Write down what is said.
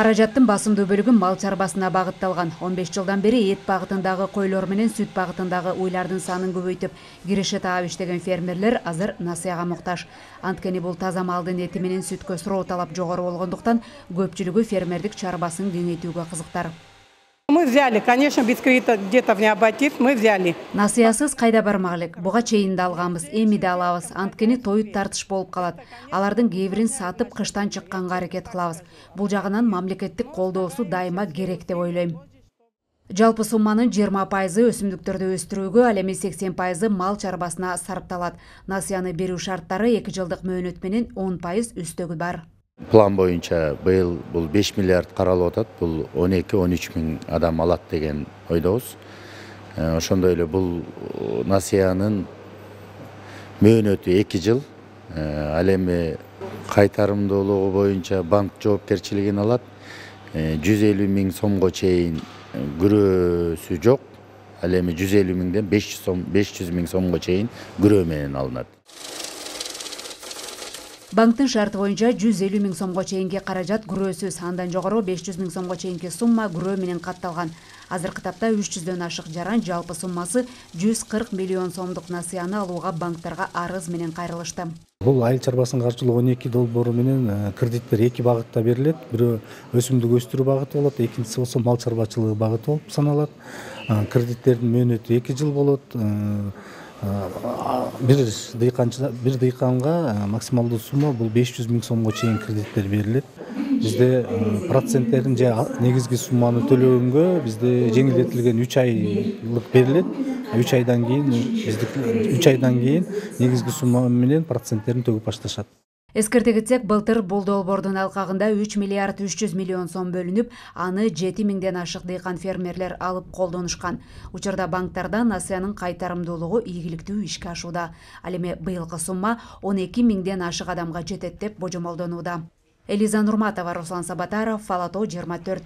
Каражаттын басымдуу бөлүгү мал чарбасына багытталган. 15 жылдан бери эт багытындагы койлор менен сүт багытындагы уйлардын санын көбөйтүп киреше таап иштеген фермерлер азыр насыяга муктаж. Анткени бул таза малдын эти менен сүткө суроо талап жогору болгондуктан көпчүлүгү фермердик чарбасын кеңейтүүгө кызыктар. Мы взяли, конечно, без кредита где-то в необатив, мы взяли. Насыясыз кайда бармак элек. Буга чейин да алганбыз, эми да алабыз. Анткени тоют тартыш болуп калат. Алардын кээ бирин сатып кыштан чыкканга аракет кылабыз. Бул жагынан мамлекеттик колдоосу дайыма керек деп ойлойм. Жалпы сумманын 20% өсүмдүктөрдү өстүрүүгө, ал эми 80% мал чарбасына сарпталат. Насыяны берүү шарттары 2 жылдык мөөнөт менен 10% үстөгү бар. План боюнча быйыл бул 5 миллиард каралып атат. Бул 12-13 миң адам алат деген ойдобуз. Ошондой эле бул насыянын мөөнөтү 2 жыл. Ал эми кайтарымдуулугу боюнча банк жоопкерчилигин алат. 150 миң сомго чейин күрөөсү жок. Ал эми 150 миңден 500 миң сомго чейин күрөө менен алынат. Банктын шарты боюнча 150 миң сомго чейинки каражат күрөөсүз, андан жогору 500 миң сомго чейинки сумма күрөө менен катталган. Азыркы тапта 300дөн ашык жаран жалпы суммасы 140 миллион сомдук насыяны алууга банктарга арыз менен кайрылышты. Бул айыл чарбасынын каржылоо 12 долбоору менен кредиттер 2 багытта берилет. Бирөө өсүмдүк өстүрүү багыты болот, экинчиси болсо мал чарбачылыгы багыты болуп саналат. Кредиттердин мөөнөтү 2 жыл болот. Бир дыйканга максималдуу сумма бул 500 миң сомго чейин кредиттер берилет. Бизде проценттерин же негизги сумманы төлөгөнгө бизде жеңилдетилген 3 айлык берилет. 3 айдан кийин негизги сумма менен проценттерин төгүп башташат. Эскерте кетсек, былтыр бул долбоордун алкагында 3 миллиард 300 миллион сом бөлүнүп, аны 7 миңден ашык дыйкан фермерлер алып колдонушкан. Учурда банктарда насыянын кайтарымдуулугу ийгиликтүү ишке ашууда. Ал эми быйылкы сумма 12 миңден ашык адамга жетет деп божомолдонууда. Элиза Нурматова, Руслан Сабатаров, Фалато 24.